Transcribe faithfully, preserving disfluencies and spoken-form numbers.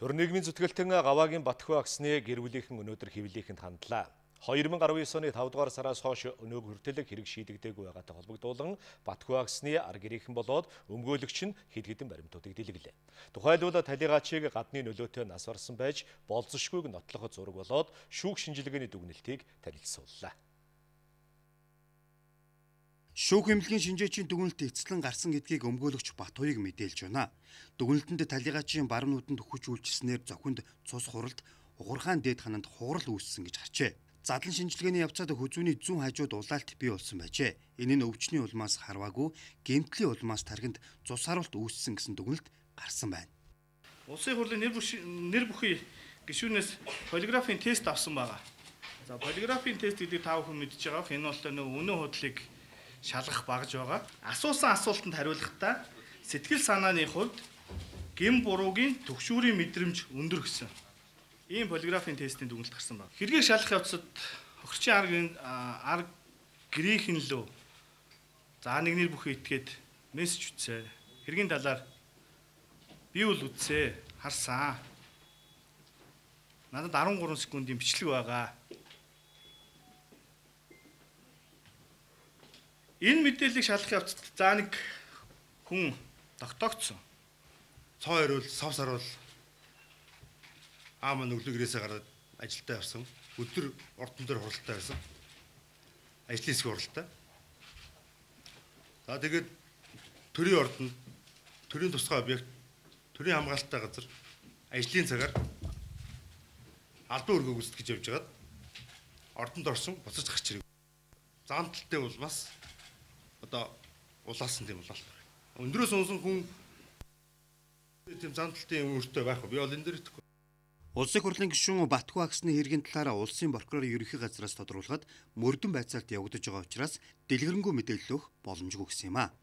Төр нийгмийн зүтгэлтэн Гаваагийн Батхүү агсны гэр бүлийнхэн өнөөдөр хэвлэлийнхэнд хандлаа. хоёр мянга арван девять оны тавд дугаар сараас хойш өнөөг хүртэлэг хэрэг шийдэгдээгүй байгаатай холбогдуулан Батхүү агсны ар гэрийнхэн болоод өмгөөлөгч нь хэд хэдэн баримтуудыг дэлгэлээ. Тухайлбал талигаачийг гадны нөлөөтэй нас барсан байж болзошгүйг нотлоход зураг болоод шүүх шинжилгээний дүгнэлтийг танилцууллаа. Шүүх эмнэлгийн шинжээчийн дүгнэлт эцэслэн гарсан гэдгийг өмгөөлөгч Батхууийг мэдээлж байна. Дүгнэлтэнд талигаачийн баруун нүдэнд хүч үйлчилснээр зохинд цус хуралд угурхаан дээд хананд хугарал үүссэн гэж харжээ. Задлан шинжилгээний явцад хүзүүний зүүн хажууд улаалт бий болсон байжээ. Энэ нь өвчний улмаас харваагүй гэмтлийн улмаас тархинд цус харуулт үүссэн гэсэн дүгнэлт гарсан байна. Улсын хурлын нэр нэр бүхий гишүүнээс полиграфын тест авсан байгаа. За полиграфын тест гэдэг та бүхэн мэдж байгаа. Энэ бол нөө үнэн худлыг шалгах багж байгаа. Асуусан асуултанд хариулахдаа сэтгэл санааны хувьд гэм буруугийн төгшүүрийн мэдрэмж өндөр гэсэн ийм полиграфын тестийн дүгнэлт гарсан байна. Хэргийг шалгах явцад хохирчийн аргийн ар гэрийнхэн лөө за нэгнэр бүхий итгээд мессеж үтсэ. Хэргийн талаар би үл үтсэ. Харсан. Надад арван гурван секундын бичлэг байгаа. Энэ мэдээллийг шалгах явцад за нэг хүн тогтоогдсон. Цоо ирвэл сав сарвал аамаа нүглэгрээсээ гараад ажилдаа явсан. Өдөр ордон дээр хуралтай байсан. Ажлын хэсэг хуралтай. За тэгээд төрийн ордонд төрийн тусгай объект, төрийн хамгаалалттай газар ажлын цагаар албан өргөө гүйцэтгэж явж байгаад ордонд орсон буцаж гарч ирв. Зан талтай бол бас одоо улаасан тийм болол. Өндрөөс унсан хүн тийм зан талтын өөртөө байх. Би бол энэ дээр итгэхгүй. Улсын хурлын гишүүн Батхүү агсны хэргийн талаараа улсын прокурор ерөнхий газраас тодруулахад мөрдөн байцаалт явагдаж байгаа учраас дэлгэрэнгүй мэдээлэл өгөх боломжгүй гэсэн юм а.